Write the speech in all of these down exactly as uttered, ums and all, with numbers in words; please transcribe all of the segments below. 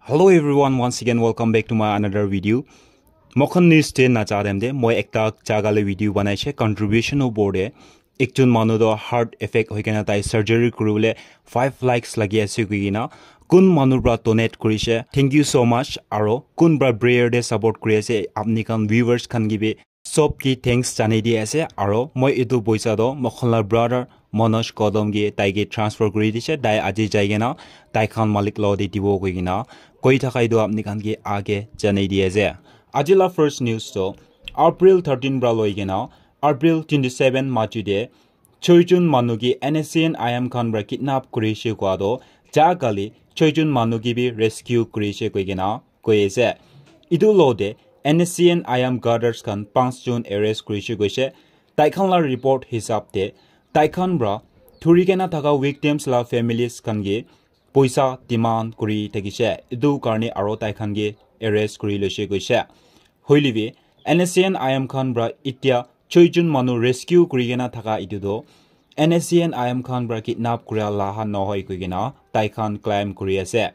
Hello everyone, once again welcome back to my another video. Mokhan news te na cha dem de, moi ekta jaga le video banai she contribution opor de. Ekjon manu to heart effect hoi kena tai surgery kuri bole five lakhs lagi ase koi kena. Kun manu pra donate kuri she, thank you so much. Aro kun pra prayer de support kuri ase, apni khan viewers khan ki bi sob ki thanks janai di ase. Aro moi etu poisa to mokhan la brother Manoj Gautam ki tai ki transfer kuri di she, tai aji jai kena tai khan malik lo de dibo koi kena koi thaka etu apni khan ki age janai di ase. Aji la first news to April thirteen pra loi kena April twenty seven maji de choi jon manu ki N S C N I M khan pra kidnap kuri she kua to ja kali choi jon manu ki bi rescue kuri she koi kena koi ase. Etu lo de N S C N I M cadres khan panch jon arrest kuri she koi she. Tai khan la report hisab de tai khan pra thuri kena thaka victims la families khan ki poisa demand kuri thaki she. Etu karne aro tai khan ki arrest kuri loi she koi she. Hoile bi N S C N I M khan pra itia choi jon manu rescue kuri kena thaka etu to N S C N I M khan pra kidnap kura la ha nohoi koi kena tai khan claim kuri ase.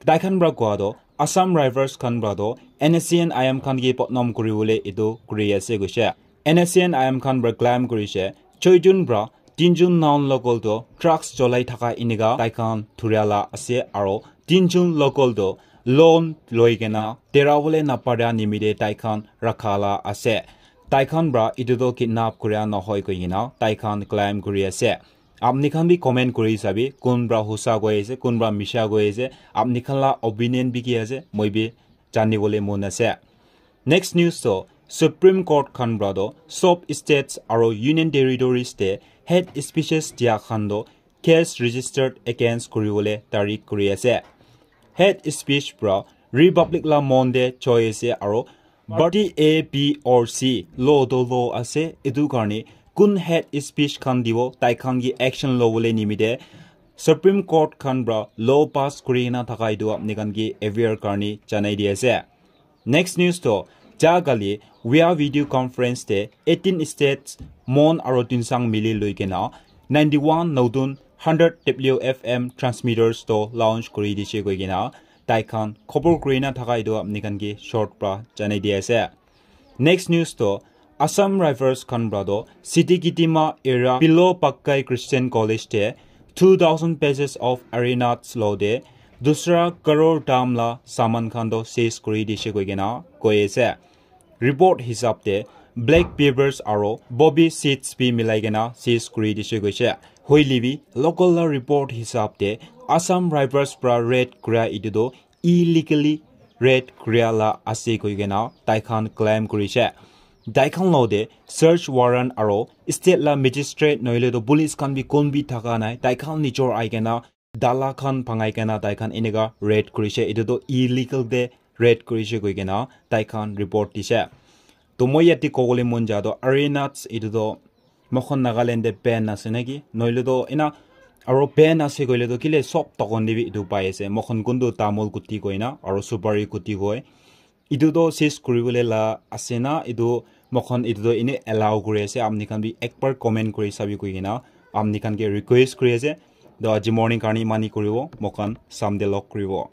Tai khan pra kua to Assam Rifles khan pra to N S C N I M khan ki potnom kuri bole etu kuri ase koi she. N S C N I M khan pra claim kuri she choi jon pra tin jon non local to drugs cholai thaka enika tai khan thuria la ase aro tin jon local to loan loi kena tera bole na para nimite tai khan rakha la ase. Tai khan pra etu to kidnap kura nohoi koi kena tai khan claim kuri ase. Apni khan bi comment kuri sabi, kun pra hosa koi ase, kun pra misha koi ase, apni khan la opinion bi ki ase, moi bi jani bole mon ase. Next news to Supreme Court khan pra to sob states aro union territories te hate speeches dia khan to case registered against kuri bole tarik kuri ase. Hate speech pra Republic la mon de choi ase aro party A, B or C law to law ase. Etu karne kun hate speech khan dibo, tai khan ki action lo bole nimite Supreme Court khan pra law pass kuri na thaka etu apni khan ki aware karne janai di ase. Next news to ja kali via video conference te eighteen states mon aro tuensang mili loi kena ninety one notun hundred W F M transmitters to launch kuri di she koi kena tai khan khobor kuri na thaka etu apni khan ki short pra janai di ase. Next news to Assam Rifles khan pra to City Kitima area Pilo Pakkai Christian College te two thousand pieces of Ari Nath lo de dusra crore dam la saman khan to seize kuri di she koi kena koi ase. Report hisab te black peppers aro poppy seeds bi milai kena seize kuri di she koi she. Hoile bi local la report hisab te Assam Rifles pra raid kura etu to illegally raid kura la ase koi kena tai khan claim kuri she. Tai khan lo de search warrant aro state la magistrate nohile to police khan bi kon bi thaka nai, tai khan nijor ai kena dala khan bhangai kena tai khan enika raid kuri she. Etu to illegal de raid kuri she koi kena tai khan report di she. To moi yate kobole mon ja to Ari Nath etu to mokhon Nagaland te ban ase naki? Nohile to ena aro ban ase koile to kile sob tokon te bi etu pai ase. Mokhon kuntu tamul guti koi na aro supari guti koi. Etu to seize kuri bole la ase na? Etu mokhon etu to ene allow kuri ase. Apni khan bi ekbar comment kuri sabi koi kena apni khan ke request kuri ase. To aji morning karne imani kuribo. Mokhon Sunday log kuribo.